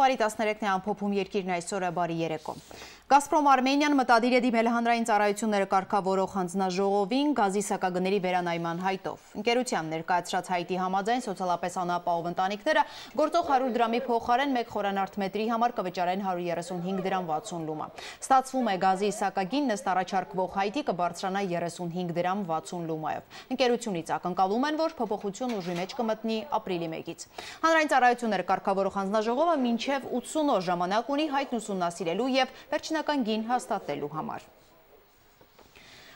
Հունվարի 13-ն է ամփոփում երկիրն այսօրը, բարի երեկո։ Գազպրոմ Արմենիան մտադիր է դիմել հանրային ծառայությունները կարգավորող հանձնաժողովին գազի սակագների վերանայման հայտով։ Ընկերության ներկայացրած հայտի համաձայն սոցիալապես անապահով ընտանիքները գործող 100 դրամի փոխարեն 1 խորանարդ մետրի համար կվճարեն 135 դրամ 60 լումա։ Ստացվում է գազի սակագինն ըստ առաջարկվող հայտի կբարձրանա 35 դրամ 60 լումայով։ Ընկերությունից ակնկալում են, որ փոփոխություն ուժի մեջ կմտնի ապրիլի 1-ից։ Հանրային ծառայությունները կարգավորող հանձնաժողովը մինչև 80 օր ժամանակ ունի հայտն ուսումնասիրելու եւ վերջնական գին հաստատելու համար։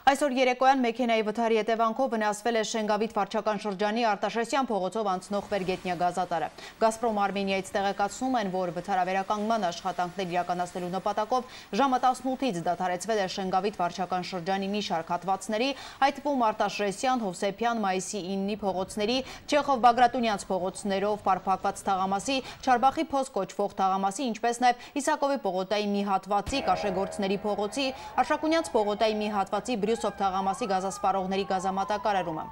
Այսօր երեկոյան մեքենայի վթարի հետևանքով վնասվել է Շենգավիթ վարչական շրջանի Արտաշեսյան փողոցով անցնող վերգետնյա գազատարը։ Գազպրոմ Արմենիայից տեղեկացնում են, որ վթարավերականգնման աշխատանքներ իրականացնելու նպատակով ժամը 18-ից դադարեցվել է Շենգավիթ վարչական շրջանի մի շարք հատվածների, այդ թվում Արտաշեսյան, Հովսեփյան, Մայիսի 9-ի փողոցների, Չեխով Բագրատունյանց փողոցներով փարփակված թաղամասի, Չարբախի փոս կոչվող թաղամասի, ինչպես նաև Իսակովի պողոտայի մի հատվածի, Կաշեգործների փողոցի, Արշակունյանց պողոտայի մի հատվածի Բրյուսով թաղամասի գազասպառողների գազամատակարարումը։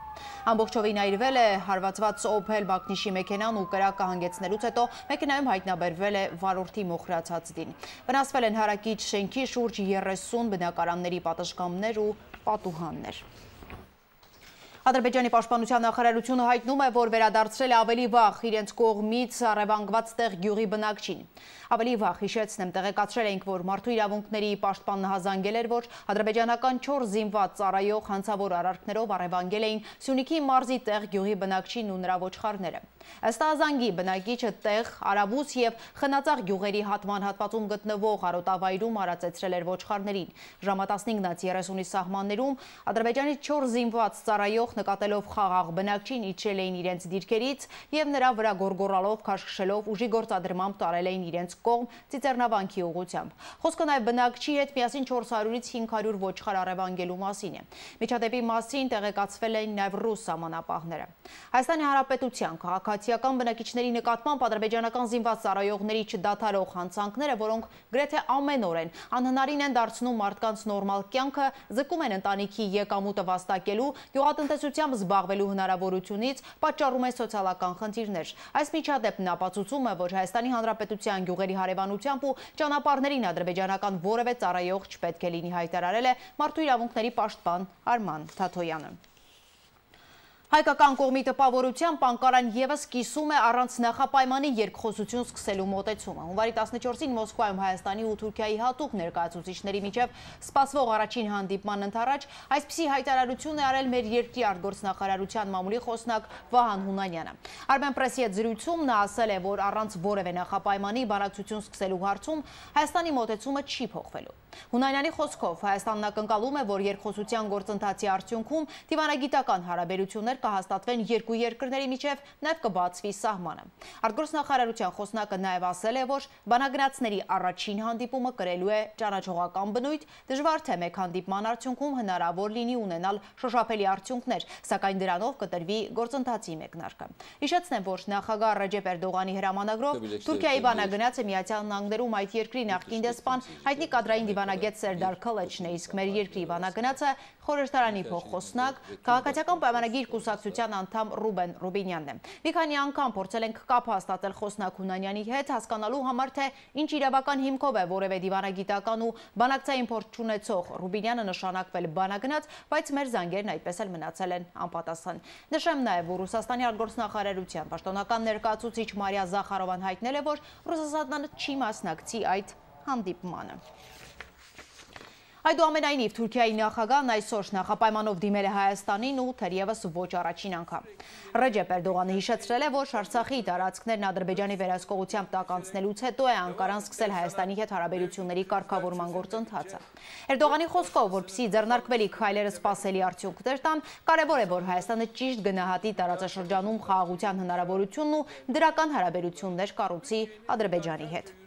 Ամբողջովին այրվել է հարվածված Opel Բակնիշի մեքենան ու կրակը հանգեցնելուց հետո մեքենայում հայտնաբերվել է վարորդի մոխրացած դին։ Վնասվել են հարակից շենքի շուրջ 30 բնակարանների պատշգամբներ ու պատուհաններ։ Ադրբեջանի պաշտպանության նախարարությունը հայտնում է, որ վերադարձրել է ավելի վաղ իրենց կողմից առևանգված տեղ գյուղի բնակչին։ Ավելի վաղ հիշեցնեմ, տեղեկացրել ենք, որ մարդու իրավունքների պաշտպանն հազանգել էր, որ ադրբեջանական 4 զինված ծառայող հանցավոր արարքներով առևանգել էին Սյունիքի մարզի տեղ գյուղի բնակչին ու նրա ոչխարները։ Ըստ հազանգի բնակիչը տեղ, Արաբուս եւ Խնածաղ գյուղերի հատման հատվածում գտնվող արոտավայրում արածեցրել էր ոչխարներին։ Ժամը 15:30-ի սահմաններում Ադրբեջանի 4 զինված ծառայող նկատելով խաղաղ բնակչին իջրել էին իրենց դիրքերից եւ նրա վրա գորգորալով քաշքշելով ուժի գործադրմամբ տարել էին իրենց կողմ ծիծեռնավանքի ուղղությամբ։ Խոսքը նաեւ բնակչի հետ միասին 400-ից 500 ոչխար առևանգելու մասին է։ Միջադեպի մասին տեղեկացվել են նաեւ ռուս սահմանապահները։ Հայաստանի Հանրապետության քաղաքացիական բնակիչների նկատմամբ ադրբեջանական զինված ծառայողների չդադարող հանցանքները, որոնք գրեթե ամեն օր են անհնարին են դարձնում մարդկանց նորմալ կյանքը, զրկում են ընտանիքի եկամուտը վաստակելու, գյուղատնտեսությամբ զբաղվելու հնարավորությունից, պատճառում են սոցիալական խնդիրներ։ Այս միջադեպն ապացուցում է, որ Հայաստանի Հանրապետության գյուղերի հարևանությամբ ու ճանապարհներին ադրբեջանական որևէ ծառայող չպետք է լինի, հայտարարել է մարդու իրավունքների պաշտպան Արման Թաթոյանը։ Հայկական կողմի տպավորությամբ Անկարան եւս կիսում է առանց նախապայմանի երկխոսություն սկսելու մոտեցումը։ Հունվարի 14-ին Մոսկվայում Հայաստանի ու Թուրքիայի հատուկ ներկայացուցիչների միջև սպասվող առաջին հանդիպման ընթരാճ այսպիսի հայտարարություն է արել մեր երկրի արտգործնախարարության մամուլի խոսնակ Վահան Հունանյանը։ Armenpress-ի հետ զրույցում նա ասել է, որ առանց որևէ նախապայմանի բանակցություն սկսելու հարցում Հայաստանի մոտեցումը չի փոխվելու։ Հունանյանի խոսքով Հայաստանն ակնկալում է, որ երկխոսության գործընթացի արդյունքում դիվանագիտական հարաբերություններ կհաստատվեն երկու երկրների միջև, նաև կբացվի սահմանը։ Արտգործնախարարության խոսնակը նաև ասել է, որ բանագնացների առաջին հանդիպումը կրելու է ճանաչողական բնույթ, դժվար թե մեկ հանդիպման արդյունքում հնարավոր լինի ունենալ շոշափելի արդյունքներ, սակայն դրանով կտրվի գործընթացի մեկնարկը։ Հիշեցնեմ, որ նախագահ Ռեջեփ Էրդողանի հրամանագրով Թուրքիայի բանագնացը Միացյալ Նահանգներում այդ երկրի նախկին դեսպան հայտնի կադրային դիվանագետ Սերդար Քլեչն է, իսկ մեր երկրի բանագնացը խորհրդարանի փոխխոսնակ, քաղաքացիական պայմանագիր կուսակցության անդամ Ռուբեն Ռուբինյանն է։ Մի քանի անգամ փորձել ենք կապ հաստատել խոսնակ Հունանյանի հետ, հասկանալու համար, թե ինչ իրավական հիմքով է որևէ դիվանագիտական ու բանակցային փորձ չունեցող Ռուբինյանը նշանակվել բանագնաց, բայց մեր զանգերն այդպես էլ մնացել են անպատասխան։ Նշեմ նաև, որ Ռուսաստանի արտգործնախարարության պաշտոնական ներկայացուցիչ Մարիա Զախարովան հայտնել է, որ Ռուսաստանը չի մասնակցի այդ հանդիպմանը։ Այդուամենայնիվ Թուրքիայի նախագահն այսօր նախապայմանով դիմել է Հայաստանին ու թերևս ոչ առաջին անգամ։ Ռեջեփ Էրդողանը հիշեցրել է, որ Արցախի տարածքներն Ադրբեջանի վերահսկողությամբ տակ անցնելուց հետո է Անկարան սկսել Հայաստանի հետ հարաբերությունների կարգավորման գործընթացը։ Էրդողանի խոսքով, որպեսզի ձեռնարկվելիք քայլերը սպասելի արդյունքներ տան, կարևոր է, որ Հայաստանը ճիշտ գնահատի տարածաշրջանում խաղաղության հնարավորությունն ու դրական հարաբերություններ կառուցի Ադրբեջանի հետ։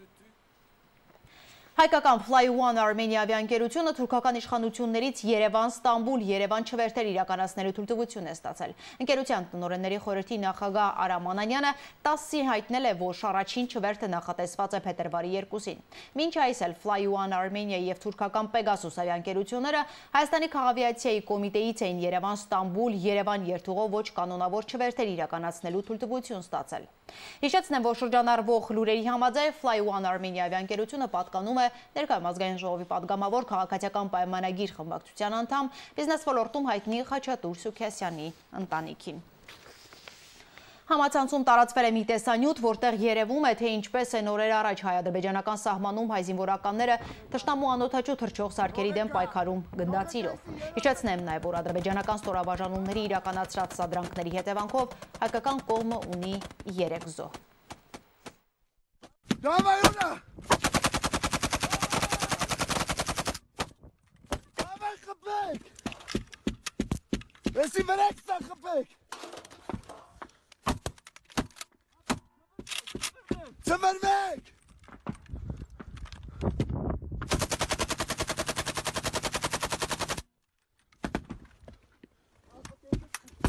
Հայկական Fly One Armenia ավիաընկերությունը թուրքական իշխանություններից Երևան-Ստամբուլ Երևան չվերթեր իրականացնելու թույլտվություն է ստացել։ Ընկերության տնօրենների խորհրդի նախագահ Արամ Անանյանը 10-ին հայտնել է, որ առաջին չվերթը նախատեսված է փետրվարի 2-ին։ Մինչ այս էլ Fly One Armenia եւ թուրքական Pegasus ավիաընկերությունները Հայաստանի քաղավիացիայի կոմիտեից էին Երևան-Ստամբուլ Երևան երթուղով ոչ կանոնավոր չվերթեր իրականացնելու թույլտվություն ստացել։ Հիշեցնեմ, որ շրջանառվող լուրերի համաձայն Fly One Armenia ավիաընկերությունը պատկանում է ներկայում ազգային ժողովի պատգամավոր քաղաքացիական պայմանագիր խմբակցության անդամ բիզնես ոլորտում հայտնի Խաչատուր Սուքիասյանի ընտանիքին։ Համացանցում տարածվել է մի տեսանյութ, որտեղ երևում է, թե ինչպես են օրեր առաջ հայ-ադրբեջանական սահմանում հայ զինվորականները թշնամու անօդաչու թռչող սարքերի դեմ պայքարում գնդացիրով։ Հիշեցնեմ նաև, որ ադրբեջանական ստորաբաժանումների իրականացրած սադրանքների հետևանքով հայկական կողմը ունի 3 զոհ։ Ծմերվեք!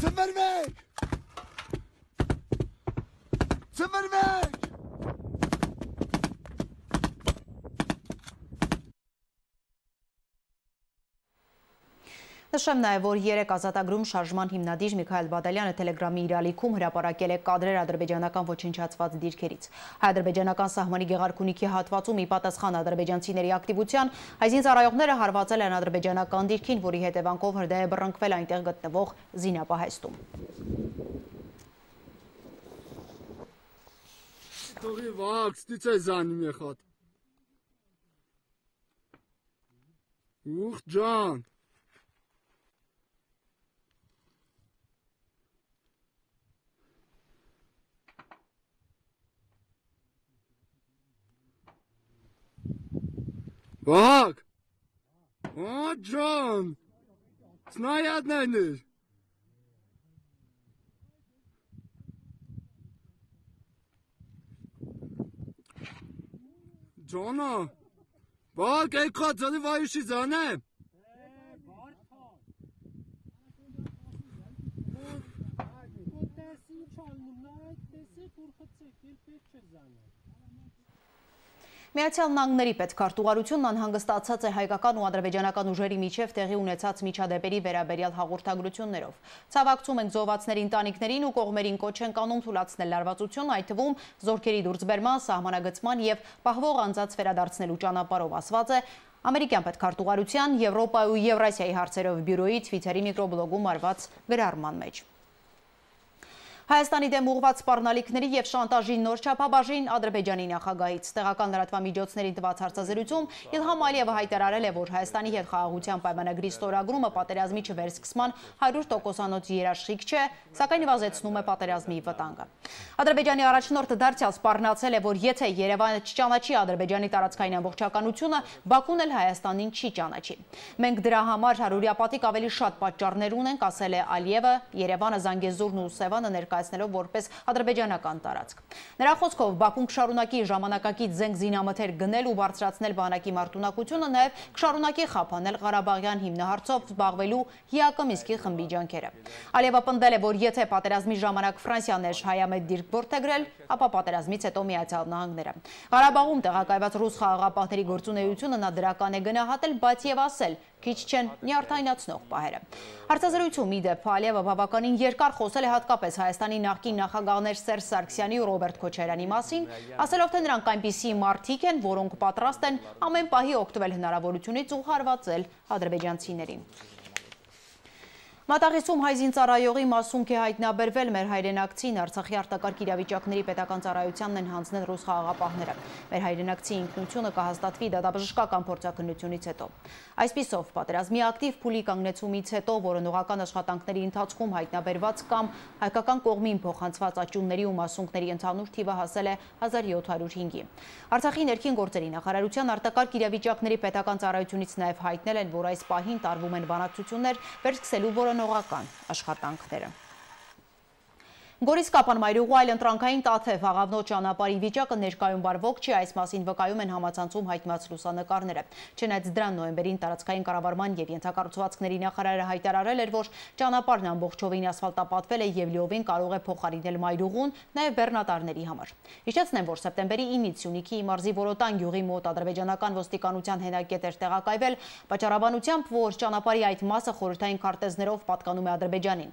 Ծմերվեք! Ծմերվեք! Նշեմ նաև, որ երեկ ազատագրում շարժման հիմնադիր Միքայել Բադալյանը Տելեգրամի իր ալիքում հրապարակել է կադրեր ադրբեջանական ոչնչացված դիրքերից։ Հայ-ադրբեջանական սահմանի Գեղարքունիքի հատվածում ի պատասխան ադրբեջանցիների ակտիվության հայ զինծառայողները հարվածել են ադրբեջանական դիրքին, որի հետևանքով հրդեհ է բռնկվել այնտեղ գտնվող զինապահեստում։ Թողի վակ, ստիցե զանի մեխատ։ Ուխ ջան։ Vak! O John! Snayadnendir. John! Bak, ey kadını vayışı zane. Միացյալ Նահանգների պետքարտուղարությունն անհանգստացած է հայկական ու ադրբեջանական ուժերի միջև տեղի ունեցած միջադեպերի վերաբերյալ հաղորդագրություններով։ Ցավակցում ենք զոհվածների ընտանիքներին ու կողմերին կոչ ենք անում թույլատրել լարվածություն, այդ թվում զորքերի դուրսբերման, սահմանագծման եւ պահվող անձանց վերադարձնելու ճանապարհով, ասված է ամերիկյան պետքարտուղարության Եվրոպայի ու Եվրասիայի հարցերով բյուրոյի Twitter-ի միկրոբլոգում արված գրառման մեջ։ Հայաստանի դեմ ուղղված սպառնալիքների եւ շանտաժի նոր չափաբաժին Ադրբեջանի նախագահից տեղական լրատվամիջոցներին տված հարցազրույցում Իլհամ Ալիևը հայտարարել է, որ Հայաստանի հետ խաղաղության պայմանագրի ստորագրումը պատերազմի չվերսկսման 100%-անոց երաշխիք չէ, սակայն նվազեցնում է պատերազմի վտանգը։ Ադրբեջանի առաջնորդը դարձյալ սպառնացել է, որ եթե Երևանը չճանաչի Ադրբեջանի տարածքային ամբողջականությունը, Բաքուն էլ Հայաստանին չի ճանաչի։ Մենք դրա համար հարյուրապատիկ ավելի շատ պատճառներ ունենք, ասել է Ալիևը, Երևանը, Զանգեզուրն ու Սևանը ներկայացնելով որպես ադրբեջանական տարածք։ Նրա խոսքով Բաքուն կշարունակի ժամանակակից զենք զինամթեր գնել ու բարձրացնել բանակի մարտունակությունը, նաև կշարունակի խափանել Ղարաբաղյան հիմնահարցով զբաղվելու ՀԻԱԿ Մինսկի խմբի ջանքերը։ Ալիևը պնդել է, որ եթե պատերազմի ժամանակ Ֆրանսիան էր հայամետ դիրք որդեգրել, ապա պատերազմից հետո Միացյալ Նահանգները։ Ղարաբաղում տեղակայված ռուս խաղաղապահների գործունեությունը նա դրական է գնահատել, բայց եւ ասել, քիչ չեն նյարդայնացնող պահերը։ Հարցազրույցում ի դեպ Ալիևը բավականին երկար խոսել է հատկապես Հայաստանի նախկին նախագահներ Սերժ Սարգսյանի ու Ռոբերտ Քոչարյանի մասին, ասելով, թե նրանք այնպիսի մարդիկ են, որոնք պատրաստ են ամեն պահի օգտվել հնարավորությունից ու հարվածել ադրբեջանցիներին։ Մատաղիսում հայ զինծառայողի մասունք է հայտնաբերվել մեր հայրենակցին Արցախի արտակարգ իրավիճակների պետական ծառայությանն են հանձնել ռուս խաղաղապահները։ Մեր հայրենակցի ինքնությունը կհաստատվի դատաբժշկական փորձաքննությունից հետո։ Այսպիսով, պատերազմի ակտիվ փուլի կանգնեցումից հետո, որոնողական աշխատանքների ընթացքում հայտնաբերված կամ հայկական կողմին փոխանցված աճյունների ու մասունքների ընդհանուր թիվը հասել է 1705-ի։ Արցախի ներքին գործերի նախարարության արտակարգ իրավիճակների պետական ծառայությունից նաև հայտնել են, որ այս պահին տարվում են բանակցություններ վերսկսելու որոնողական աշխատանքները։ Գորիս Կապան-Մայրուղու այլ ընտրանքային Տաթև աղավնոտ ճանապարհի վիճակը ներկայում բարվոք չի, այս մասին վկայում են համացանցում հայտնված լուսանկարները։ Չնայած դրան նոյեմբերին տարածքային կառավարման եւ ենթակառուցվածքների նախարարը հայտարարել էր, որ ճանապարհն ամբողջովին ասֆալտապատվել է եւ լիովին կարող է փոխարինել Մայրուղուն, նաեւ բեռնատարների համար։ Հիշեցնեմ, որ սեպտեմբերի 9-ից Սյունիքի մարզի Որոտան գյուղի մոտ ադրբեջանական ոստիկանության հենակետ էր տեղակայվել, պատճառաբանությամբ, որ ճանապարհի այդ մասը խորհրդային քարտեզներով պատկանում է Ադրբեջանին։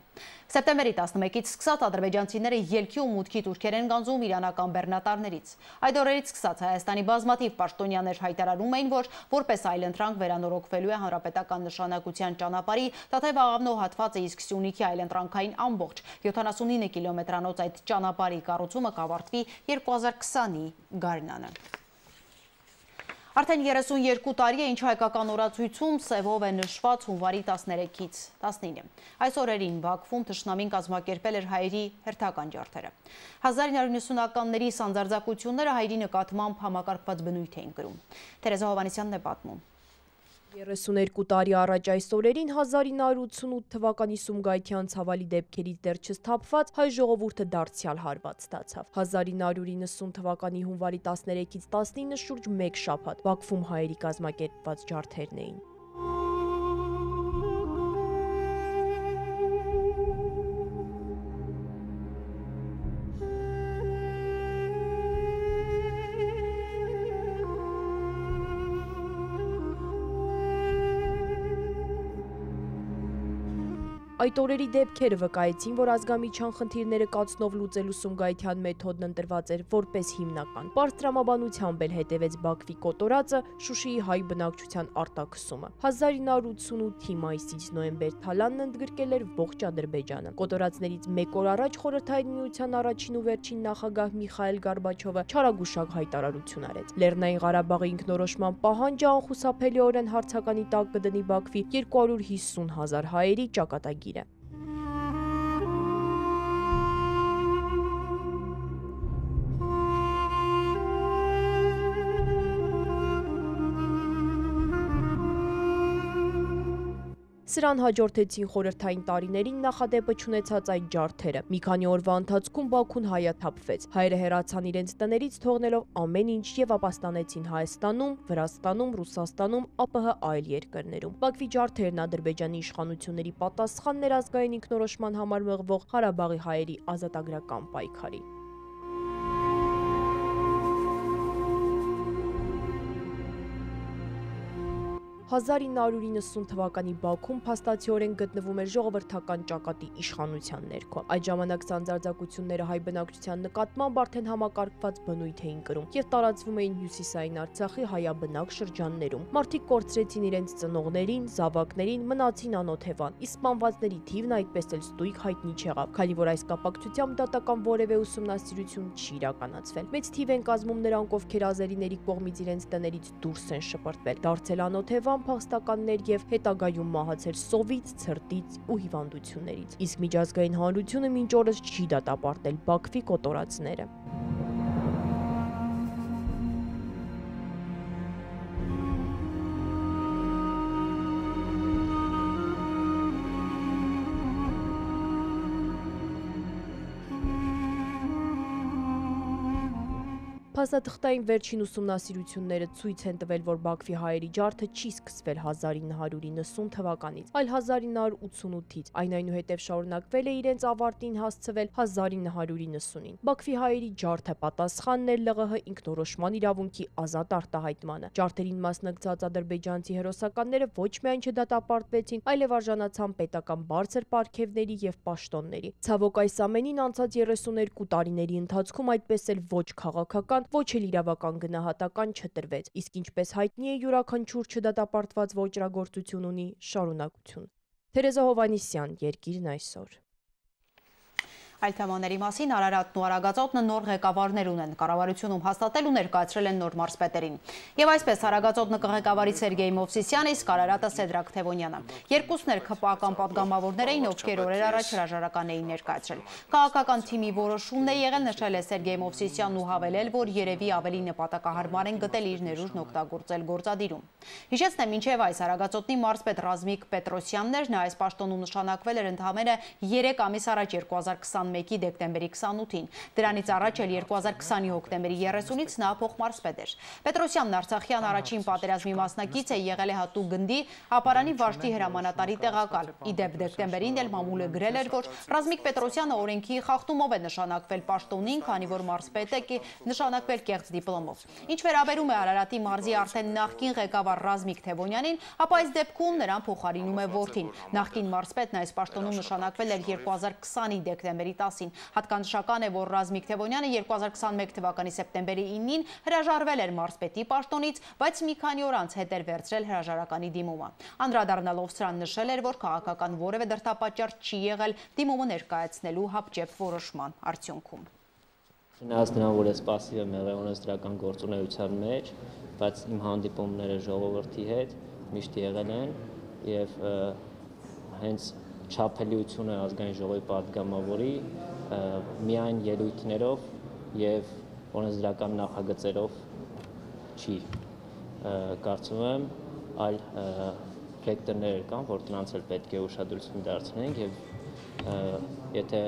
Սեպտեմբերի 11-ից սկսած ադրբեջանցիները ելքի ու մուտքի տուրքեր են գանձում իրանական բեռնատարներից։ Այդ օրերից սկսած Հայաստանի բազմաթիվ պաշտոնյաներ հայտարարում էին, որ որպես այլընտրանք վերանորոգվելու է հանրապետական նշանակության ճանապարհի Տաթև-Աղավնո հատվածը, իսկ Սյունիքի այլընտրանքային ամբողջ 79 կիլոմետրանոց այդ ճանապարհի կառուցումը կավարտվի 2020-ի գարնանը։ Արդեն 32 տարի է, ինչ հայկական օրացույցում սևով է նշված հունվարի 13-ից 19։ Այս օրերին Բաքվում թշնամին կազմակերպել էր հայերի հերթական ջարդերը։ 1990-ականների սանձարձակությունները հայերի նկատմամբ համակարգված բնույթ էին կրում։ Թերեզա Հովհաննիսյանն է պատմում։ 32 տարի առաջ այս օրերին 1988 թվականի Սումգայիթյան ցավալի դեպքերից դեռ չսթափված հայ ժողովուրդը դարձյալ հարված ստացավ։ 1990 թվականի հունվարի 13-ից 19 շուրջ 1 շաբաթ Բաքվում հայերի կազմակերպված ջարդերն էին։ Այդ օրերի դեպքերը վկայեցին, որ ազգամիջյան խնդիրները կացնով լուծելու Սումգայիթյան մեթոդն ընտրված էր որպես հիմնական։ Պարզ տրամաբանությամբ էլ հետևեց Բաքվի կոտորածը, Շուշիի հայ բնակչության արտաքսումը։ 1988-ի մայիսից նոյեմբեր Թալանն ընդգրկել էր ողջ Ադրբեջանը։ Կոտորածներից մեկ օր առաջ Խորհրդային Միության առաջին ու վերջին նախագահ Միխայել Գորբաչովը չարագուշակ հայտարարություն արեց։ Լեռնային Ղարաբաղի ինքնորոշման պահանջը անխուսափելիորեն հարցականի տակ կդնի Բաքվի 250,000 հայերի ճակատագիրը։ Սրան հաջորդեցին խորհրդային տարիներին նախադեպը չունեցած այդ ջարդերը։ Մի քանի օրվա ընթացքում Բաքուն հայաթափվեց։ Հայերը հեռացան իրենց տներից, թողնելով ամեն ինչ եւ ապաստանեցին Հայաստանում, Վրաստանում, Ռուսաստանում, ԱՊՀ այլ երկրներում։ Բաքվի ջարդերն Ադրբեջանի իշխանությունների պատասխանն էր ազգային ինքնորոշման համար մղվող Ղարաբաղի հայերի ազատագրական պայքարի։ 1990 թվականի Բաքվում փաստացիորեն գտնվում էր ժողովրդական ճակատի իշխանության ներքո։ Այդ ժամանակ սանձարձակությունները հայ բնակչության նկատմամբ արդեն համակարգված բնույթ էին կրում եւ տարածվում էին հյուսիսային Արցախի հայաբնակ շրջաններում։ Մարդիկ կորցրեցին իրենց ծնողներին, զավակներին, մնացին անօթևան։ Իսկ սպանվածների թիվն այդպես էլ ստույգ հայտնի չեղավ, քանի որ այս կապակցությամբ դատական որևէ ուսումնասիրություն չի իրականացվել։ Մեծ թիվ են կազմում նրանք, ովքեր ազերիների կողմից իրենց տներից դուրս են շպրտվել, դարձել անօթևան փախստականներ եւ հետագայում մահացել սովից, ցրտից ու հիվանդություններից։ Իսկ միջազգային հանրությունը մինչ օրս չի դատապարտել Բաքվի կոտորածները։ Փաստաթղթային վերջին ուսումնասիրությունները ցույց են տվել, որ Բաքվի հայերի ջարդը չի սկսվել 1990 թվականից, այլ 1988-ից, այն այնուհետև շարունակվել է իրենց ավարտին հասցվել 1990-ին։ Բաքվի հայերի ջարդը պատասխանն էր ԼՂՀ ինքնորոշման իրավունքի ազատ արտահայտմանը։ Ջարդերին մասնակցած ադրբեջանցի հերոսականները ոչ միայն չդատապարտվեցին, այլև արժանացան պետական բարձր պարգևների եւ պաշտոնների։ Ցավոք այս ամենին անցած 32 տարիների ընթացքում այդպես էլ ոչ քաղաքական ոչ էլ իրավական գնահատական չտրվեց, իսկ ինչպես հայտնի է, յուրաքանչյուր չդատապարտված ոճրագործություն ունի շարունակություն։ Թերեզա Հովհաննիսյան, Երկիրն այսօր։ Այլ թեմաների մասին Արարատն ու Արագածոտնը նոր ղեկավարներ ունեն, կառավարությունում հաստատել ու ներկայացրել են նոր մարզպետերին։ Եվ այսպես Արագածոտնը կղեկավարի Սերգեյ Մովսիսյանը, իսկ Արարատը Սեդրակ Թևոնյանը։ Երկուսն էլ ՔՊԱ-ական պատգամավորներ էին, ովքեր օրեր առաջ հրաժարական էին ներկայացրել։ Քաղաքական թիմի որոշումն է եղել, նշել է Սերգեյ Մովսիսյանն ու հավելել, որ երևի ավելի նպատակահարմար են գտել իր ներուժն օգտագործել գործադիրում։ Հիշեցնեմ, մինչև այս Արագածոտնի մարզպետ Ռազմիկ Պետրոսյանն էր, նա այս պաշտոնում նշանակվել էր ընդամենը 3 ամիս առաջ 2021-ի դեկտեմբերի 28-ին։ Դրանից առաջ էլ 2020-ի հոկտեմբերի 30-ից նա փոխմարզպետ էր։ Պետրոսյանն Արցախյան առաջին պատերազմի մասնակից է, եղել է հատուկ գնդի ապարանի վարժդի հրամանատարի տեղակալ։ Իդեպ դեկտեմբերին էլ մամուլը գրել էր, որ Ռազմիկ Պետրոսյանը օրենքի խախտումով է նշանակվել պաշտոնին, քանի որ մարզպետ է նշանակվել կեղծ դիպլոմով։ Ինչ վերաբերում է Արարատի մարզի արդեն նախկին ղեկավար Ռազմիկ Թևոնյանին, ապա այս դեպքում նրան փոխարինում է որդին։ Նախկին մարզպետն այս պաշտոնում նշանակվել էր 2020-ի դեկտեմբերի հոկտեմբերի 10-ին։ Հատկանշական է, որ Ռազմիկ Թևոնյանը 2021 թվականի սեպտեմբերի 9-ին հրաժարվել էր մարզպետի պաշտոնից, բայց մի քանի օր անց հետ էր վերցրել հրաժարականի դիմումը։ Անդրադառնալով սրան նշել էր, որ քաղաքական որևէ դրդապատճառ չի եղել դիմումը ներկայացնելու հապճեպ որոշման արդյունքում։ Չնայած նրան, որ ես պասիվ եմ եղել օրենսդրական գործունեության մեջ, բայց իմ հանդիպումները ժողովրդի հետ միշտ եղել են եւ հենց չափելիությունը ազգային ժողովի պատգամավորի միայն ելույթներով եւ օրենսդրական նախագծերով չի, կարծում եմ, այլ ֆեկտորներ կան, որ դրանց էլ պետք է ուշադրություն դարձնենք եւ եթե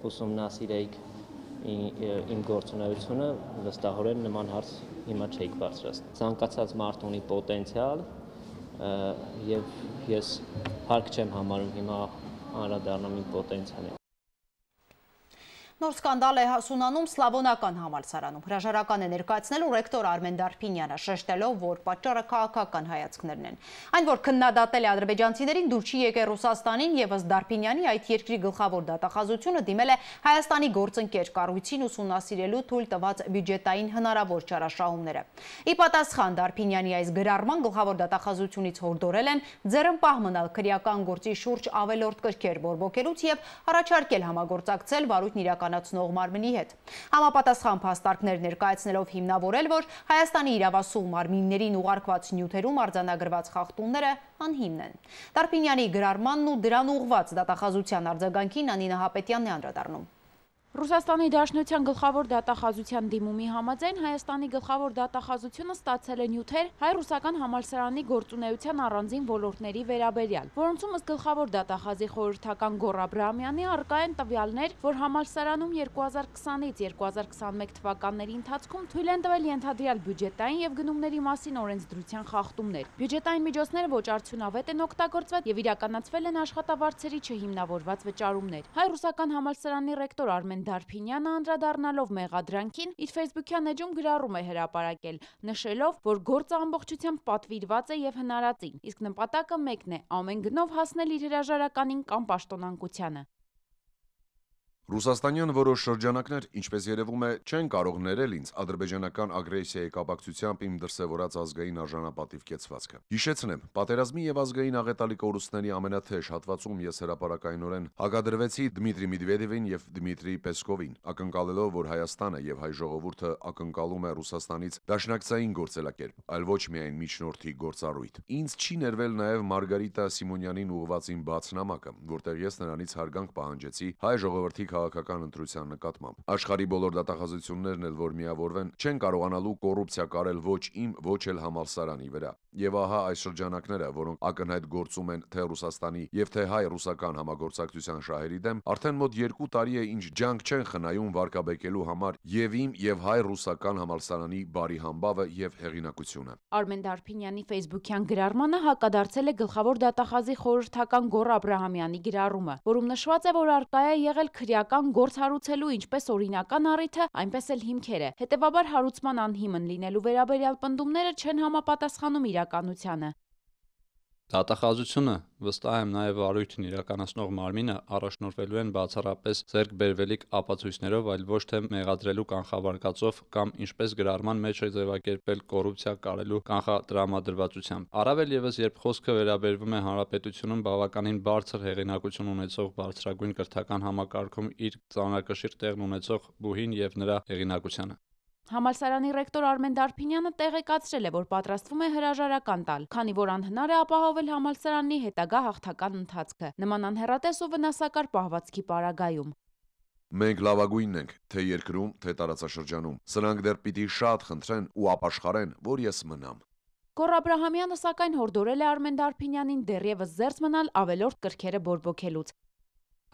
ուսումնասիրեիք իմ գործունեությունը, վստահորեն նման հարց հիմա չէիք բարձրացնել։ Ցանկացած մարդ ունի պոտենցիալ եւ ես հարկ չեմ համարում հիմա անդրադառնամ իմ պոտենցիալին։ Նոր սկանդալ է հասունանում Սլավոնական համալսարանում։ Հրաժարական է ներկայացնելու ռեկտոր Արմեն Դարփինյանը, շեշտելով, որ պատճառը քաղաքական հայացքներն են։ Այն, որ քննադատել է ադրբեջանցիներին, դուր չի եկել Ռուսաստանին եւ ըստ Դարփինյանի այդ երկրի գլխավոր դատախազությունը դիմել է Հայաստանի գործընկեր կառույցին ուսումնասիրելու թույլ տված բյուջետային հնարավոր չարաշահումները։ Ի պատասխան Դարփինյանի այս գրառման գլխավոր դատախազությունից հորդորել են ձեռնպահ մնալ քրեական գործի շուրջ ավելորդ կրքեր բորբոքելուց եւ առաջարկել համագործակցել վարույթն իրականացնող մարմնի հետ։ Համապատասխան փաստարկներ ներկայացնելով հիմնավորել, որ Հայաստանի իրավասու մարմիններին ուղարկված նյութերում արձանագրված խախտումները անհիմն են։ Դարփինյանի գրառմանն ու դրան ուղղված դատախազության արձագանքին Անինա Հապետյանն է անդրադառնում։ Ռուսաստանի Դաշնության գլխավոր դատախազության դիմումի համաձայն Հայաստանի գլխավոր դատախազությունը ստացել է նյութեր հայ-ռուսական համալսարանի գործունեության առանձին ոլորտների վերաբերյալ, որոնցում ըստ գլխավոր դատախազի խորհրդական Գոռ Աբրահամյանի առկա են տվյալներ, որ համալսարանում 2020-ից 2021 թվականների ընթացքում թույլ են տվել ենթադրյալ բյուջետային եւ գնումների մասին օրենսդրության խախտումներ։ Բյուջետային միջոցները ոչ արդյունավետ են օգտագործվել եւ իրականացվել են աշխատավարձերի չհիմնավորված վճարումներ։ Հայ-ռուսական համալսարանի ռեկտոր Արմեն Դարփինյանը անդրադառնալով մեղադրանքին իր ֆեյսբուքյան էջում գրառում է հրապարակել, նշելով, որ գործը ամբողջությամբ պատվիրված է եւ հնարածին, իսկ նպատակը մեկն է՝ ամեն գնով հասնել իր հրաժարականին կամ պաշտոնանկությանը։ Ռուսաստանյան որոշ շրջանակներ, ինչպես երևում է, չեն կարող ներել ինձ ադրբեջանական ագրեսիայի կապակցությամբ իմ դրսևորած ազգային արժանապատիվ կեցվածքը։ Հիշեցնեմ, պատերազմի եւ ազգային աղետալի կորուստների ամենաթեժ հատվածում ես հրապարակայնորեն հակադրվեցի Դմիտրի Մեդվեդևին եւ Դմիտրի Պեսկովին, ակնկալելով, որ Հայաստանը եւ հայ ժողովուրդը ակնկալում է Ռուսաստանից դաշնակցային գործելակերպ, այլ ոչ միայն միջնորդի գործառույթ։ Ինձ չի ներվել նաեւ Մարգարիտա Սիմոնյանին ուղղված իմ բաց նամակը, որտեղ ես նրանից հարգանք պահանջեցի հայ ժողովրդի քաղաքական ընտրության նկատմամբ։ Աշխարհի բոլոր դատախազություններն էլ որ միավորվեն, չեն կարողանալու կոռուպցիա կարել ոչ իմ, ոչ էլ համալսարանի վրա։ Եվ ահա այս շրջանակները, որոնք ակնհայտ գործում են թե Ռուսաստանի եւ թե հայ-ռուսական համագործակցության շահերի դեմ, արդեն մոտ 2 տարի է ինչ ջանք չեն խնայում վարկաբեկելու համար եւ իմ եւ հայ-ռուսական համալսարանի բարի համբավը եւ հեղինակությունը։ Արմեն Դարփինյանի ֆեյսբուքյան գրառմանը հակադարձել է գլխավոր դատախազի խորհրդական Գոռ Աբրահամյանի գրառումը, որում նշված է, որ արկա է եղել քրեական գործ հարուցելու ինչպես օրինական առիթը, այնպես էլ հիմքերը։ Հետևաբար հարուցման անհիմն լինելու վերաբերյալ պնդումները չեն համապատասխանում իրականությանը։ Դատախազությունը, վստահ եմ նաև վարույթն իրականացնող մարմինը առաջնորդվելու են բացառապես ձեռք բերվելիք ապացույցներով, այլ ոչ թե մեղադրելու կանխավարկածով կամ ինչպես գրառման մեջ է ձևակերպել կոռուպցիա կարելու կանխատրամադրվածությամբ։ Առավել ևս, երբ խոսքը վերաբերվում է հանրապետությունում բավականին բարձր հեղինակություն ունեցող բարձրագույն կրթական համակարգում իր ծանրակշիռ տեղն ունեցող բուհին եւ նրա հեղինակությանը։ Համալսարանի ռեկտոր Արմեն Դարփինյանը տեղեկացրել է, որ պատրաստվում է հրաժարական տալ, քանի որ անհնար է ապահովել համալսարանի հետագա հաղթական ընթացքը, նման անհեռատես ու վնասակար պահվածքի պարագայում։ Մենք լավագույնն ենք, թե երկրում, թե տարածաշրջանում։ Սրանք դեռ պիտի շատ խնդրեն ու ապաշխարեն, որ ես մնամ։ Գոռ Աբրահամյանը սակայն հորդորել է Արմեն Դարփինյանին դեռևս զերծ մնալ ավելորդ կրքերը բորբոքելուց։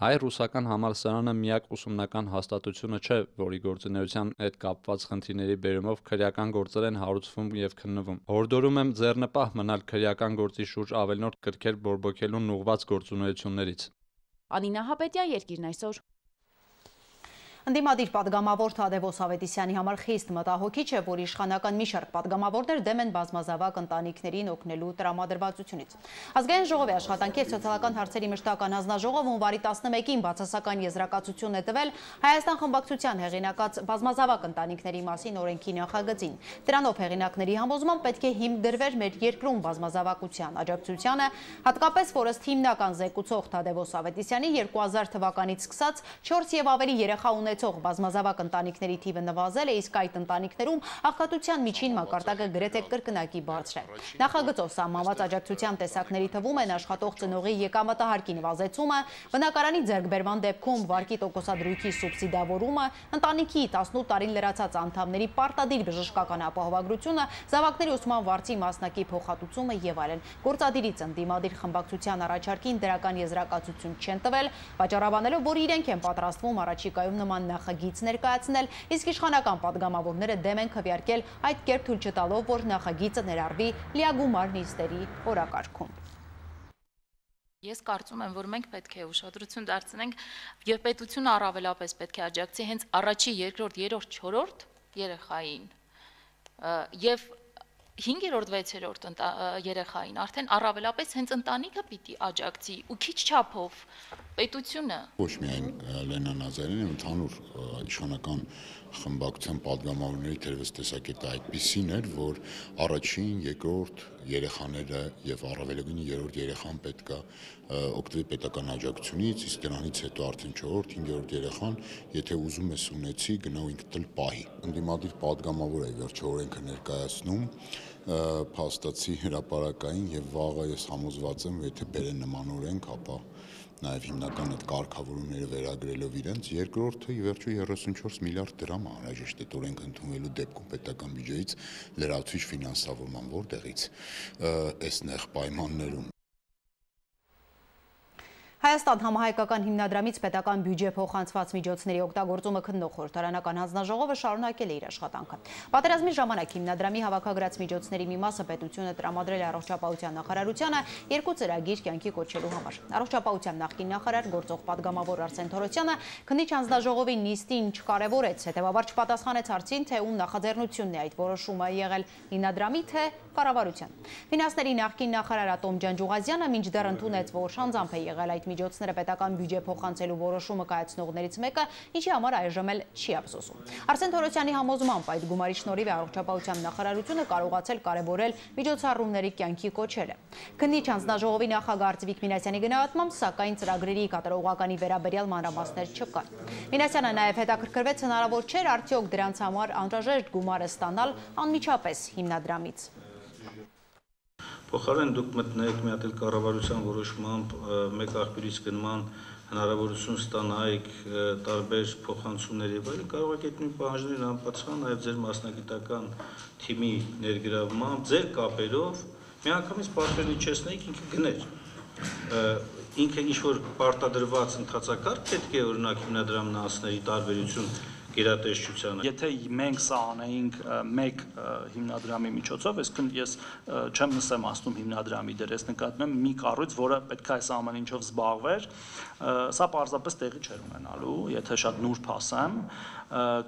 Հայ-ռուսական համալսարանը միակ ուսումնական հաստատությունը չէ, որի գործունեության հետ կապված խնդիրների բերումով քրեական գործեր են հարուցվում եւ քննվում։ Հորդորում եմ ձեռնպահ մնալ քրեական գործի շուրջ ավելորդ կրքեր բորբոքելուն ուղղված գործունեություններից։ Անինա Հապետյան, Երկիրն այսօր։ Ընդդիմադիր պատգամավոր Թադևոս Ավետիսյանի համար խիստ մտահոգիչ է, որ իշխանական մի շարք պատգամավորներ դեմ են բազմազավակ ընտանիքներին օգնելու տրամադրվածությունից։ Ազգային ժողովի աշխատանքի և սոցիալական հարցերի մշտական հանձնաժողովը հունվարի 11-ին բացասական եզրակացություն է տվել Հայաստան խմբակցության հեղինակած բազմազավակ ընտանիքների մասին օրենքի նախագծին։ Դրանով հեղինակների համոզմամբ պետք է հիմք դրվեր մեր երկրում բազմազավակության աջակցությանը, հատկապես որ ըստ հիմնական զեկուցող Թադևոս Ավետիսյանի 2000 թվականից սկսած 4 և ավելի երեխա ունեցող բազմազավակ ընտանիքների թիվը նվազել է, իսկ այդ ընտանիքներում աղքատության միջին մակարդակը գրեթե կրկնակի բարձր է։ Նախագծով սահմանված աջակցության տեսակների թվում են աշխատող ծնողի եկամտահարկի նվազեցումը, բնակարանի ձեռքբերման դեպքում վարկի տոկոսադրույքի սուբսիդավորումը, ընտանիքի 18 տարին լրացած անդամների պարտադիր բժշկական ապահովագրությունը, զավակների ուսման վարձի մասնակի փոխհատուցումը եւ այլն։ Գործադիրից ընդդիմադիր խմբակցության առաջարկին դրական եզրակացություն չեն տվել, վաճառաբանելով, որ իրենք են պատրաստվում առաջիկայում նման նախագիծ ներկայացնել, իսկ իշխանական պատգամավորները դեմ են քվեարկել այդ կերպ թույլ չտալով, որ նախագիծը ներառվի լիագումար նիստերի օրակարգում։ Ես կարծում եմ, որ մենք պետք է ուշադրություն դարձնենք եւ պետությունը առավելապես պետք է աջակցի հենց առաջի, երկրորդ, երրորդ, չորրորդ երեխային եւ 5-րդ, 6-րդ երեխային արդեն առավելապես հենց ընտանիքը պիտի աջակցի ու քիչ չափով պետությունը։ Ոչ միայն Լենա Նազարյանը, ընդհանուր իշխանական խմբակցության պատգամավորների թերևս տեսակետը այդպիսին էր, որ առաջին, երկրորդ երեխաները եւ առավելագույնը երրորդ երեխան պետք է օգտվի պետական աջակցությունից, իսկ դրանից հետո արդեն 4-րդ, 5-րդ երեխան, եթե ուզում ես ունեցի, գնա ու ինքդ էլ պահի։ Ընդդիմադիր պատգամավոր է վերջը օրենքը ներկայացնում, փաստացի հրապարակային եւ վաղը ես համոզված եմ, եթե բերեն նման օրենք, ապա նաև հիմնական այդ կարգավորումները վերագրելով իրենց, երկրորդը ի վերջո 34 միլիարդ դրամ անհրաժեշտ է օրենք ընդունվելու դեպքում պետական բյուջեից լրացուցիչ ֆինանսավորման, որտեղից այս նեղ պայմաններում։ Հայաստան համահայկական հիմնադրամից պետական բյուջե փոխանցված միջոցների օգտագործումը քննող խորհրդարանական հանձնաժողովը շարունակել է իր աշխատանքը։ Պատերազմի ժամանակ հիմնադրամի հավաքագրած միջոցների մի մասը պետությունը տրամադրել է առողջապահության նախարարությանը 2 ծրագիր կյանքի կոչելու համար։ Առողջապահության նախկին նախարար գործող պատգամավոր Արսեն Թորոսյանը քննիչ հանձնաժողովի նիստին չկարևորեց, հետևաբար չպատասխանեց հարցին, թե ում նախաձեռնությունն է այդ որոշումը եղել՝ հիմնադրամի թե կառավարության։ Ֆինանսների նախկին նախարար Ատոմ Ջանջուղազյանը մինչդեռ ընդունեց, որ շանձամբ է եղել այդ միջոցները պետական բյուջե փոխանցելու որոշումը կայացնողներից մեկը, ինչի համար այժմ էլ չի ափսոսում։ Արսեն Թորոսյանի համոզմամբ այդ գումարի շնորհիվ առողջապահության նախարարությունը կարողացել կարևորել միջոցառումների կյանքի կոչելը։ Քննիչ հանձնաժողովի նախագահ Արծիվիկ Մինասյանի գնահատմամբ, սակայն ծրագրերի կատարողականի վերաբերյալ մանրամասներ չկան։ Մինասյանը նաև հետաքրքրվեց հնարավոր չէր արդյոք դրանց համար անհրաժեշտ գումարը ստանալ անմիջապես հիմնադրամից։ Փոխարեն դուք մտնեք մի հատ էլ կառավարության որոշմամբ մեկ աղբյուրից գնման հնարավորություն ստանայիք տարբեր փոխանցումների եւ այլն, կարող եք այդ նույն պահանջներին անպատասխան նաեւ ձեր մասնագիտական թիմի ներգրավմամբ, ձեր կապերով միանգամից պատվերն իջեցնեիք, ինքը գներ։ Ինքը ինչ-որ պարտադրված ընթացակարգ պետք է օրինակ հիմնադրամն անցների տարբերություն գերատեսչությանը։ Եթե մենք սա անեինք մեկ հիմնադրամի միջոցով, այսինքն ես չեմ նսեմ ասում հիմնադրամի դեր, ես նկատում եմ մի կառույց, որը պետք է այս ամեն ինչով զբաղվեր, սա պարզապես տեղի չէր ունենալու, եթե շատ նուրբ ասեմ,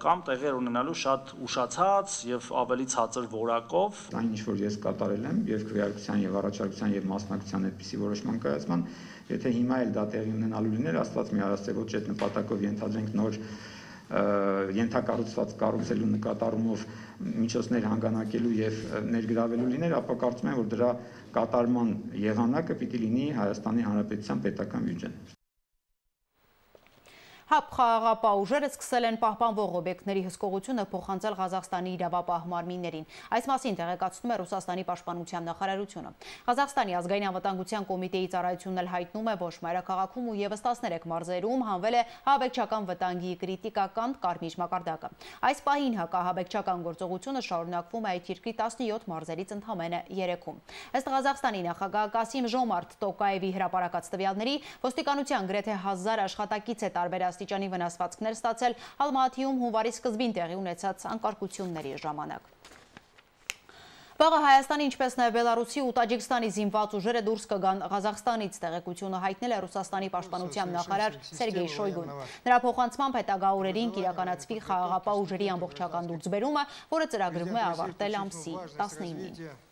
կամ տեղի ունենալու շատ ուշացած եւ ավելի ցածր որակով։ Այն ինչ որ ես կատարել եմ եւ քվեարկության եւ առաջարկության եւ մասնակցության այդպիսի որոշման կայացման, եթե հիմա էլ դա տեղի ունենալու լիներ, Աստված մի արած ոչ այդ նպատակով ենթադրենք նոր ենթակառուցված կառուցելու նկատառումով միջոցներ հանգանակելու եւ ներգրավելու լիներ, ապա կարծում եմ, որ դրա կատարման եղանակը պիտի լինի Հայաստանի Հանրապետության պետական բյուջեն։ ՀԱՊ խաղաղապահ ուժերը սկսել են պահպանվող օբյեկտների հսկողությունը փոխանցել Ղազախստանի իրավապահ մարմիններին։ Այս մասին տեղեկացնում է Ռուսաստանի պաշտպանության նախարարությունը։ Ղազախստանի ազգային անվտանգության կոմիտեի ծառայությունն էլ հայտնում է, որ մայրաքաղաքում ու եւս 13 մարզերում հանվել է հաբեկչական վտանգի կրիտիկական կարմիր մակարդակը։ Այս պահին հակահաբեկչական գործողությունը շարունակվում է այդ երկրի 17 մարզերից ընդամենը 3-ում։ Ըստ Ղազախստանի նախագահ Կասիմ Ժոմարտ Տոկաևի հրապարակած տվյալների, ոստիկանության գրեթե 1000 աշխատակից է տարբեր աստիճանի վնասվածքներ ստացել Ալմատիում հունվարի սկզբին տեղի ունեցած անկարգությունների ժամանակ։ Վաղը Հայաստանի, ինչպես նաև Բելարուսի ու Տաջիկստանի զինված ուժերը դուրս կգան Ղազախստանից, տեղեկությունը հայտնել է Ռուսաստանի պաշտպանության նախարար Սերգեյ Շոյգուն։ Նրա փոխանցմամբ հետագա օրերին կիրականացվի խաղաղապահ ուժերի ամբողջական դուրսբերումը, որը ծրագրվում է ավարտել ամսի 19-ին։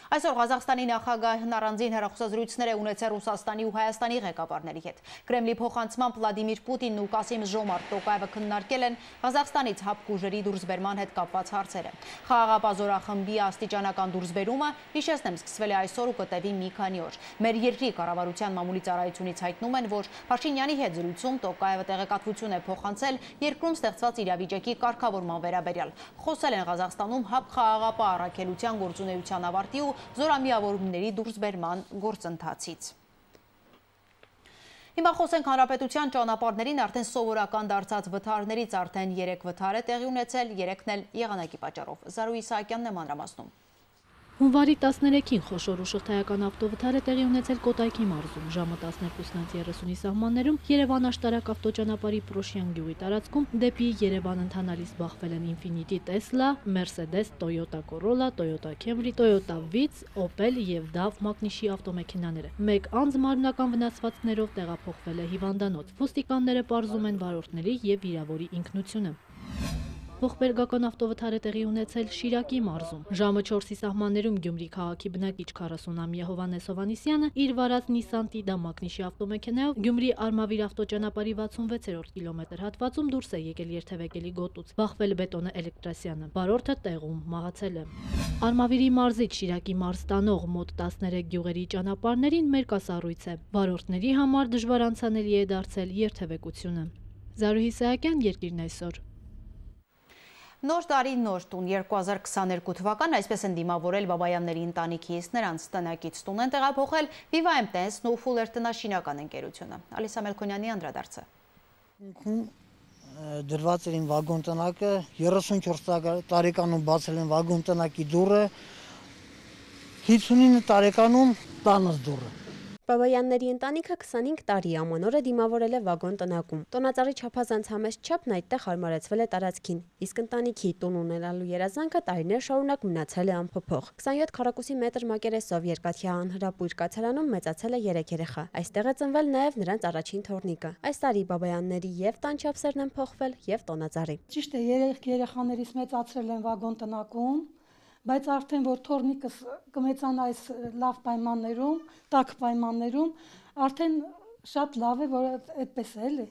Այսօր Ղազախստանի նախագահն առանձին հեռախոսազրույցներ է ունեցել Ռուսաստանի ու Հայաստանի ղեկավարների հետ։ Կրեմլի փոխանցմամբ Վլադիմիր Պուտինն ու Կասիմ Ժոմարտ Տոկաևը քննարկել են Ղազախստանից հապկ ուժերի դուրսբերման հետ կապված հարցերը։ Խաղաղապահ զորախմբի աստիճանական դուրսբերումը, հիշեցնեմ, սկսվել է այսօր ու կտևի մի քանի օր։ Մեր երկրի կառավարության մամուլի ծառայությունից հայտնում են, որ Փաշինյանի հետ զրույցում Տոկաևը տեղեկատվություն է փոխանցել երկրում ստեղծված իրավիճակի կարգավորման վերաբերյալ։ Խոսել են Ղազախստանում հապկ խաղաղապահ առաքելության գործունեության ավարտի ու զորամիավորումների դուրսբերման գործընթացից։ Հիմա խոսենք հանրապետության ճանապարհներին արդեն սովորական դարձած վթարներից արդեն 3 վթար է տեղի ունեցել, 3-ն էլ եղանակի պատճառով։ Զարուհի Իսահակյանն է մանրամասնում։ Հունվարի 13-ին խոշոր ու շղթայական ավտովթար է տեղի ունեցել Կոտայքի մարզում, ժամը 12:30-ի սահմաններում Երևան-Աշտարակ ավտոճանապարհի Պրոշյան գյուղի տարածքում դեպի Երևան ընթանալիս բախվել են Infiniti Tesla, Mercedes, Toyota Corolla, Toyota Camry, Toyota Vitz, Opel եւ DAF մակնիշի ավտոմեքենաները։ Մեկ անձ մարմնական վնասվածքներով տեղափոխվել է հիվանդանոց։ Ոստիկանները պարզում են վարորդների եւ վիրավորի ինքնությունը։ Ողբերգական ավտովթար է տեղի ունեցել Շիրակի մարզում։ Ժամը 4-ի սահմաններում Գյումրի քաղաքի բնակիչ 40-ամյա Հովհաննես Հովհաննիսյանը իր վարած Nissan Tida մակնիշի ավտոմեքենայով Գյումրի Արմավիր ավտոճանապարհի 66-րդ կիլոմետր հատվածում դուրս է եկել երթևեկելի գոտուց։ Բախվել Բետոնե Էլեկտրասյանը։ Վարորդը տեղում մահացել է։ Արմավիրի մարզից Շիրակի մարզ տանող մոտ 13 գյուղերի ճանապարհներին մերկասառույց է։ Վարորդների համար դժվար անցանելի է դարձել երթևեկությունը։ Զարուհի Իսահակյան, Երկիրն այսօր։ Նոր տարի նոր տուն 2022 թվական այսպես են դիմավորել Բաբայանների ընտանիքից, նրանց տնակից տուն են տեղափոխել Viva MTS-ն ու Fuller տնաշինական ընկերությունը։ Ալիսա Մելքոնյանի անդրադարձը։ Դրված էր իմ վագոն տնակը, 34 տարեկանում բացել են վագոն տնակի դուռը, 59 տարեկանում տանս դուռը։ Բաբայանների ընտանիքը 25 տարի ամանորը դիմավորել է վագոն տնակում։ Տոնածառի չափազանց համեստ չափն այդտեղ հարմարեցվել է տարածքին, իսկ ընտանիքի տուն ունենալու երազանքը տարիներ շարունակ մնացել է անփոփոխ։ 27 քառակուսի մետր մակերեսով երկաթյա անհրապույր կացարանում մեծացել է 3 երեխա։ Այստեղ է ծնվել նաև նրանց առաջին թոռնիկը։ Այս տարի Բաբայանների եւ տան չափսերն են փոխվել եւ տոնածառի։ Ճիշտ է, 3 երեխաներից մեծացրել են վագոն տնակում, բայց արդեն որ թոռնիկս կմեծանա այս լավ պայմաններում, տաք պայմաններում, արդեն շատ լավ է, որ այդպես է, էլի։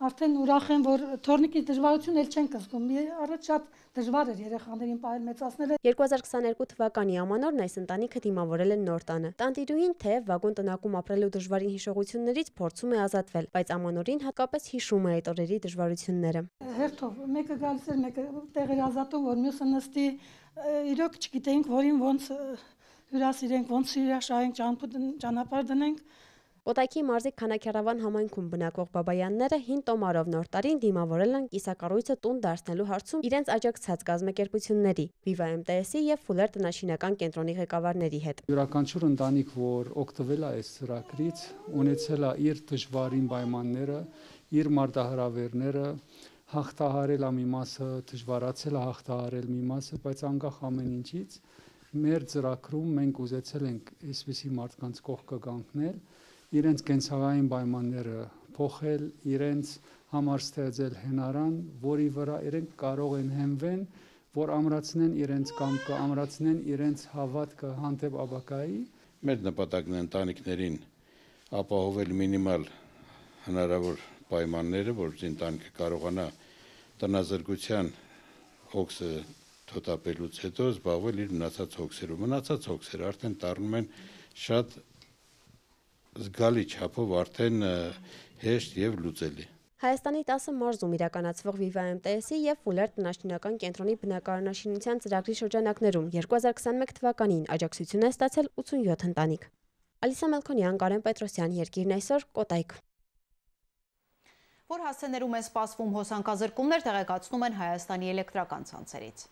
Արդեն ուրախ եմ, որ թոռնիկի դժվարություն էլ չեն կզգում։ Առաջ շատ դժվար էր երեխաներին պահել մեծացնելը։ 2022 թվականի ամանորն այս ընտանիքը դիմավորել են նոր տանը։ Տանտիրուհին թեև վագոն տնակում ապրելու դժվարին հիշողություններից փորձում է ազատվել, բայց ամանորին հատկապես հիշում է այդ օրերի դժվարությունները։ Հերթով մեկը գալիս էր, մեկը տեղ էր ազատում, որ մյուսը նստի, իրոք չգիտեինք, որին ոնց հյուրասիրենք, ոնց հյուրաշահենք, ճանապարհ դնենք։ Կոտայքի մարզի Քանաքեռավան համայնքում բնակվող Բաբայանները հին տոմարով նոր տարին դիմավորել են կիսակառույցը տուն դարձնելու հարցում իրենց աջակցած կազմակերպությունների Viva MTS-ի եւ Fuller տնաշինական կենտրոնի ղեկավարների հետ։ Յուրաքանչյուր ընտանիք, որ օգտվել է այս ծրագրից, ունեցել է իր դժվարին պայմանները, իր մարտահրավերները, հաղթահարել է մի մասը, դժվարացել է հաղթահարել մի մասը, բայց անկախ ամեն ինչից մեր ծրագրում մենք ուզեցել ենք այսպիսի մարդկանց կողքը կանգնել, իրենց կենցաղային պայմանները փոխել, իրենց համար ստեղծել հենարան, որի վրա իրենք կարող են հենվեն, որ ամրացնեն իրենց կամքը, ամրացնեն իրենց հավատքը հանդեպ ապագայի։ Մեր նպատակն է ընտանիքներին ապահովել մինիմալ հնարավոր պայմանները, որ ընտանիքը կարողանա տնազրկության հոգսը թոթափելուց հետո զբաղվել իր մնացած հոգսերով։ Մնացած հոգսերը արդեն դառնում են շատ զգալի չափով արդեն հեշտ եւ լուծելի։ Հայաստանի 10 մարզում իրականացվող Viva MTS-ի եւ Fuller տնաշինական կենտրոնի բնակարանաշինության ծրագրի շրջանակներում 2021 թվականին աջակցություն է ստացել 87 ընտանիք։ Ալիսա Մելքոնյան, Կարեն Պետրոսյան, Երկիրն այսօր, Կոտայք։ Որ հասցեներում են սպասվում հոսանքազրկումներ, տեղեկացնում են Հայաստանի էլեկտրական ցանցերից։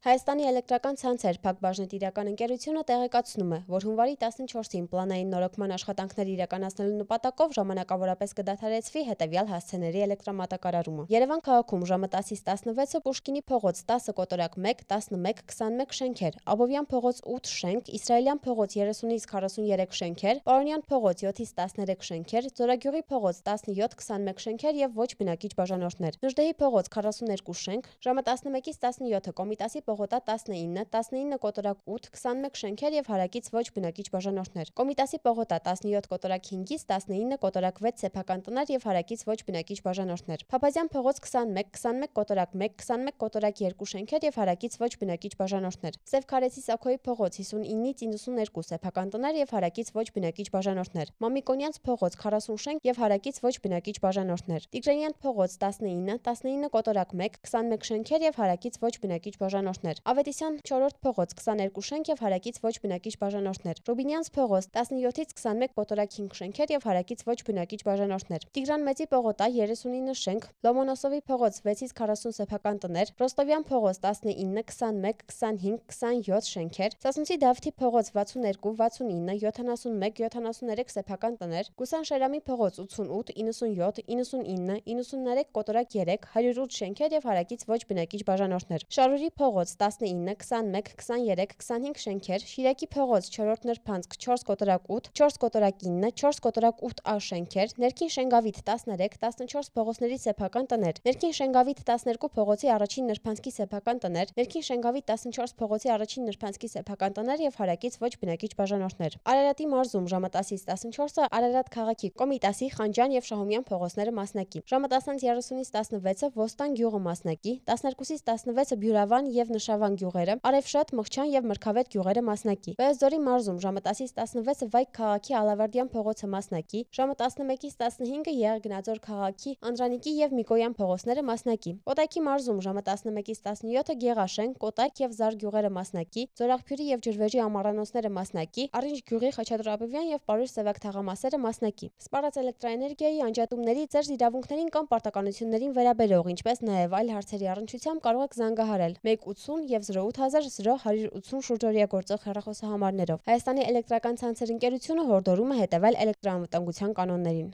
Հայաստանի էլեկտրական ցանցեր ՓԱԿ բաժնետիրական ընկերությունը տեղեկացնում է, որ հունվարի 14-ին պլանային նորոգման աշխատանքներ իրականացնելու նպատակով ժամանակավորապես կդադարեցվի հետևյալ հասցեների էլեկտրամատակարարումը։ Երևան քաղաքում ժամը 10-ից 16-ը Պուշկինի փողոց 10 կոտորակ 1, 11, 21 շենքեր, Աբովյան փողոց 8 շենք, Իսրայելյան փողոց 30-ից 43 շենքեր, Պարոնյան փողոց 7-ից 13 շենքեր, Ձորագյուղի փողոց 17-21 շենքեր եւ ոչ բնակիչ բաժանորդներ, Նժդեհի փողոց 42 շենք, ժամը 11-ից 17-ը Կոմիտասի Պողոտա 19, 19 կոտորակ 8, 21 շենքեր եւ հարակից ոչ բնակիչ բաժանորդներ։ Կոմիտասի Պողոտա 17 կոտորակ 5-ից 19 կոտորակ 6 սեփական տներ եւ հարակից ոչ բնակիչ բաժանորդներ։ Փափազյան փողոց 21, 21 կոտորակ 1, 21 կոտորակ 2 շենքեր եւ հարակից ոչ բնակիչ բաժանորդներ։ Սև Քարեցի Սաքոյի փողոց 59-ից 92 սեփական տներ եւ հարակից ոչ բնակիչ բաժանորդներ։ Մամիկոնյանց փողոց 40 շենք եւ հարակից ոչ բնակիչ բաժանորդներ։ Տիգրանյան փողոց 19, 19 կոտորակ 1, 21 շենքեր եւ հարակից ոչ բնակիչ բաժանորդներ։ Ավետիսյան 4-րդ փողոց 22 շենք եւ հարակից ոչ բնակիչ բաժանորդներ։ Ռուբինյանց փողոց 17-ից 21 կոտորակ 5 շենքեր եւ հարակից ոչ բնակիչ բաժանորդներ։ Տիգրան Մեծի Պողոտա 39 շենք, Լոմոնոսովի փողոց 6-ից 40 սեփական տներ, Ռոստովյան փողոց 19, 21, 25, 27 շենքեր, Սասունցի Դավթի փողոց 62, 69, 71, 73 սեփական տներ, Գուսան Շերամի փողոց 88, 97, 99, 93 կոտորակ 3, 108 շենքեր եւ հարակից ոչ բնակիչ բաժանորդներ։ Շարուրի փողոց 19, 21, 23, 25 շենքեր, Շիրակի փողոց 4-րդ նրբանցք 4 կոտորակ 8, 4 կոտորակ 9, 4 կոտորակ 8A շենքեր, Ներքին Շենգավիթ 13, 14 փողոցների սեփական տներ, Ներքին Շենգավիթ 12 փողոցի առաջին նրբանցքի սեփական տներ, Ներքին Շենգավիթ 14 փողոցի առաջին նրբանցքի սեփական տներ եւ հարակից ոչ բնակիչ բաժանորդներ։ Արարատի մարզում ժամը 10-ից 14-ը Արարատ քաղաքի Կոմիտասի, Խանջան եւ Շահումյան փողոցները մասնակի։ Ժամը 10-30-ից 16-ը Ոստան գյուղը մասնակի, 12-ից 16-ը Բյուրավան եւ Նշավան գյուղերը, Արևշատ, Մղչան եւ Մրգավետ գյուղերը մասնակի։ Վեզդորի մարզում ժամը 10-ից 16-ը Վայք քաղաքի Ալավերդյան փողոցը մասնակի, ժամը 11-ից 15-ը Եղեգնաձոր քաղաքի Անդրանիկի եւ Միկոյան փողոցները մասնակի։ Կոտայքի մարզում ժամը 11-ից 17-ը Գեղաշեն, Կոտայք եւ Զար գյուղերը մասնակի, Ձորաղբյուրի եւ Ջրվեժի ամառանոցները մասնակի, Արինջ գյուղի Խաչատրապովյան եւ Պարուր Սևակ թաղամասերը մասնակի։ Սպառած էլեկտրաէներգիայի անջատումների, ձեր իրավունքներին կամ պարտականություններին վերաբերող, ինչպես նաեւ այլ հարցերի առնչությամբ կարող եք զանգահարել 180 եւ 08000 180 շուրջօրյա գործող հեռախոսահամարներով։ Հայաստանի էլեկտրական ցանցեր ընկերությունը հորդորում է հետևել էլեկտրաանվտանգության կանոններին։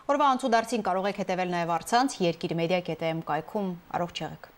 Օրվա անցուդարձին կարող եք հետևել նաև առցանց երկիր media.am կայքում։ Առողջ եղեք։